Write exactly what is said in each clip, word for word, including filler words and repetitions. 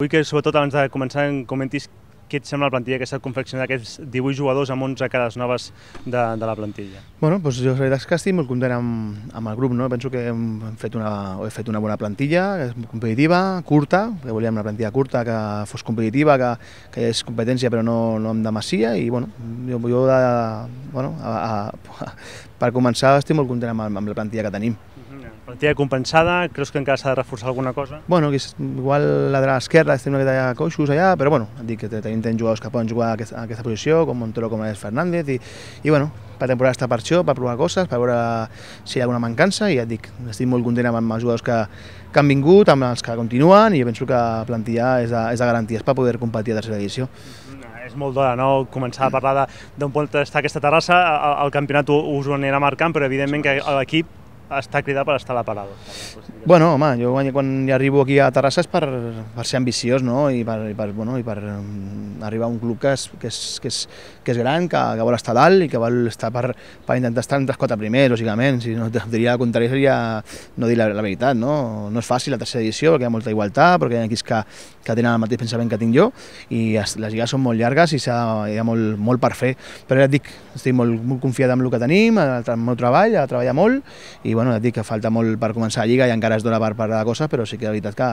Vull que, sobretot, abans de començar, em comentis què et sembla la plantilla que s'ha confeccionat d'aquests divuit jugadors amb onze cares noves de, de la plantilla. Bueno, doncs jo la veritat és que estic molt content amb, amb el grup, no? Penso que hem fet una, he fet una bona plantilla, que és competitiva, curta, que volíem una plantilla curta, que fos competitiva, que, que hi hagués competència però no, no en demassia, i bueno, jo, jo de, bueno, a, a, per començar estic molt content amb, amb la plantilla que tenim. Plantilla compensada, creus que encara s'ha de reforçar alguna cosa? Bueno, igual la de l'esquerra estem una mica de coixos allà, però bueno, dic que tenim, tenim jugadors que poden jugar a aquesta, a aquesta posició, com Montero, com és Fernández, i, i bueno, la temporada està per això, per provar coses, per veure si hi ha alguna mancança, i ja et dic, estic molt content amb els jugadors que, que han vingut, amb els que continuen, i jo penso que la plantilla és de, és de garanties per poder competir a tercera edició. És molt d'hora, no?, començar a parlar d'on pot estar aquesta terrassa. El, el campionat us ho anirà marcant, però evidentment que l'equip està cridat per estar a la parada. Bueno, home, jo quan hi arribo aquí a Terrassa és per, per ser ambiciós, no? I per, i per, bueno, i per um, arribar a un club que és, que és, que és, que és gran, que, que vol estar dalt i que vol estar per, per intentar estar entre els quatre primers, lògicament. Si no, diria el contrari seria no dir la, la veritat, no? No és fàcil la tercera edició perquè hi ha molta igualtat, perquè hi ha equips que, que tenen el mateix pensament que tinc jo, i les lligues són molt llargues i hi ha molt, molt per fer. Però ja et dic, estic molt, molt confiat en el que tenim, en el meu treball, a treballar molt, i bueno, ja et dic que falta molt per començar la lliga i encara es dona per parlar de coses, però sí que la veritat que,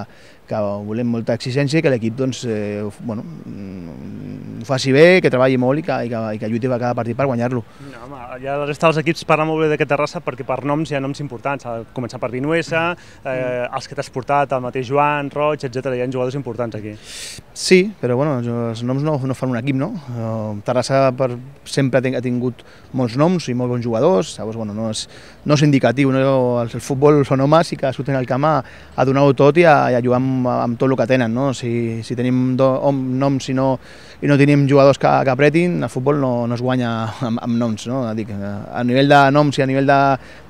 que volem molta exigència i que l'equip doncs, eh, bueno, ho faci bé, que treballi molt i que, i que, i que lluiti cada partit per guanyar-lo. No, home, ja la resta dels equips parlen molt bé d'aquest Terrassa perquè per noms hi ha noms importants, a començar per Vinuesa, eh, els que t'has portat, el mateix Joan, Roig, etcètera. Hi ha jugadors importants aquí. Sí, però bueno, els noms no, no fan un equip, no? Terrassa per, sempre ha tingut molts noms i molts bons jugadors, llavors bueno, no és, no és indicatiu, no? El futbol són homes i que surten al camp a, a donar-ho tot i a, i a jugar amb, amb tot el que tenen, no? Si, si tenim do, noms i no, i no tenim jugadors que, que apretin, el futbol no, no es guanya amb, amb noms, no? Dic, a nivell de noms i a nivell de,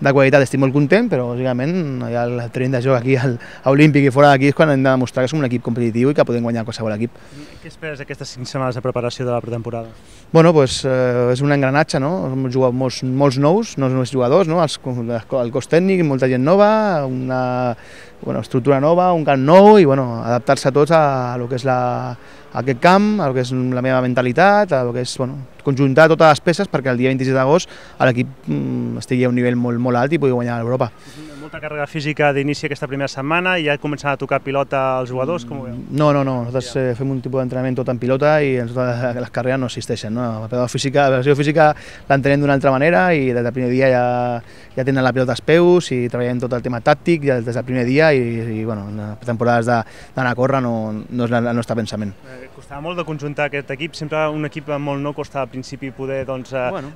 de qualitat estic molt content, però lògicament hi ha el terreny de joc aquí al, a Olímpic i fora d'aquí és quan hem de demostrar que som un equip competitiu i que podem guanyar qualsevol equip. Què esperes d'aquestes cinc setmanes de preparació de la pretemporada? Bueno, pues, eh, és un engranatge, no? Hem jugat molts, molts nous, nous, nous jugadors, no? Els, el cos tècnic, molta gent nova, una bueno, estructura nova, un camp nou i bueno, adaptar-se a tots a, a lo que és la, a aquest camp, a lo que és la meva mentalitat, a lo que és bueno, conjuntar totes les peces perquè el dia vint-i-sis d'agost l'equip mm, estigui a un nivell molt, molt alt i pugui guanyar a l'Europa. Molta càrrega física d'inici aquesta primera setmana i ja començaran a tocar pilota als jugadors? Com ho veu? No, no, no, nosaltres eh, fem un tipus d'entrenament tot en pilota i en totes les carreres no existeixen. No? La preparació física, la preparació física l'entenem d'una altra manera i des del primer dia ja, ja tenen la pilota als peus i treballem tot el tema tàctic ja des del primer dia i, i bueno, les temporades d'anar a córrer no, no és el nostre pensament. Eh, costava molt de conjuntar aquest equip, sempre un equip molt nou costa al principi poder doncs, eh, bueno.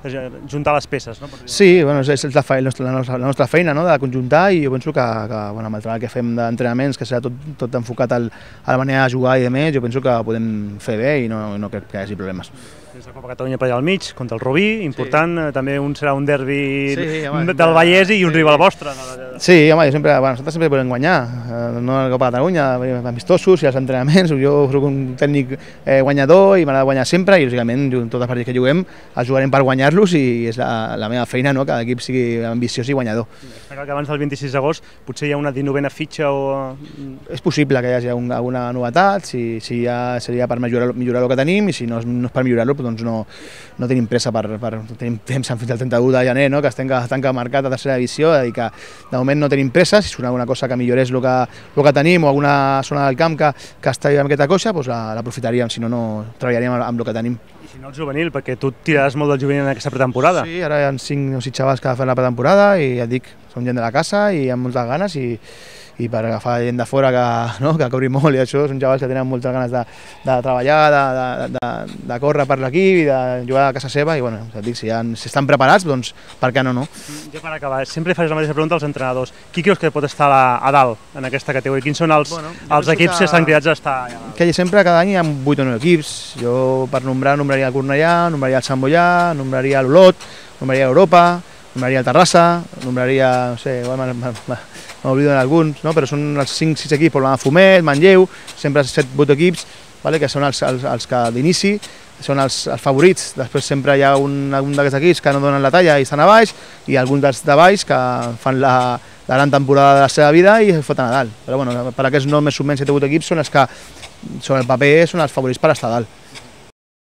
juntar les peces. No? Sí, bueno, és, és la, feina, la, nostra, la nostra feina, no? De conjuntar i jo penso que, que bueno, amb el treball que fem d'entrenaments, que serà tot, tot enfocat al, a la manera de jugar i de més, jo penso que podem fer bé i no, no crec que hi hagi problemes. Tens la Copa Catalunya per allà al mig, contra el Rubí, important, sí. També un serà un derbi sí, home, del Vallès i un sí. rival vostre. Sí, home, jo sempre, bueno, nosaltres sempre podem guanyar, no la Copa Catalunya, amistosos i els entrenaments, jo soc un tècnic eh, guanyador i m'agrada guanyar sempre i lògicament tots els partits que juguem els jugarem per guanyar-los i és la, la meva feina, no? Que l'equip sigui ambiciós i guanyador. Espera que abans del vint-i-sis d'agost potser hi ha una dinovena fitxa o... És possible que hi hagi alguna novetat, si, si ja seria per millorar, millorar el que tenim i si no, no és per millorar-lo doncs no, no tenim pressa per, per tenim temps fins al trenta-u de gener, no? Que es tanca, tanca marcat a tercera divisió, és a dir que de moment no tenim pressa, si surt alguna cosa que millorés el que, el que tenim o alguna zona del camp que, que està amb aquesta coixa, doncs l'aprofitaríem, si no, no treballaríem amb el que tenim. I si no el juvenil, perquè tu tiraràs molt del juvenil en aquesta pretemporada. Sí, ara hi ha cinc o sis xavals que fan la pretemporada i ja et dic, són gent de la casa i amb moltes ganes i i per agafar gent de fora que, no, que cobri molt i això, són xavals que tenen moltes ganes de, de treballar, de, de, de, de córrer per l'equip i de jugar a casa seva i bueno, ja et dic, si, han, si estan preparats, doncs per què no, no? Ja per acabar, sempre faig la mateixa pregunta als entrenadors. Qui creus que pot estar a, a dalt en aquesta categoria? Quins són els, bueno, els equips que, que estan cridats a estar allà? Que sempre cada any hi ha vuit o nou equips. Jo per nombrar, nombraria el Cornellà, nombraria el Sant Boià, nombraria l'Olot, nombraria Europa, nombraria el Terrassa, nombraria, no sé, m'oblido d'alguns, no? Però són els cinc sis equips, el Fumet, Manlleu, sempre set vuit equips, vale? Que són els, els, els que d'inici són els, els favorits. Després sempre hi ha un, un d'aquests equips que no donen la talla i estan a baix, i alguns dels de baix que fan la, la gran temporada de la seva vida i es foten a dalt. Però bueno, per aquests no més o menys set o vuit equips són els que sobre el paper són els favorits per estar dalt.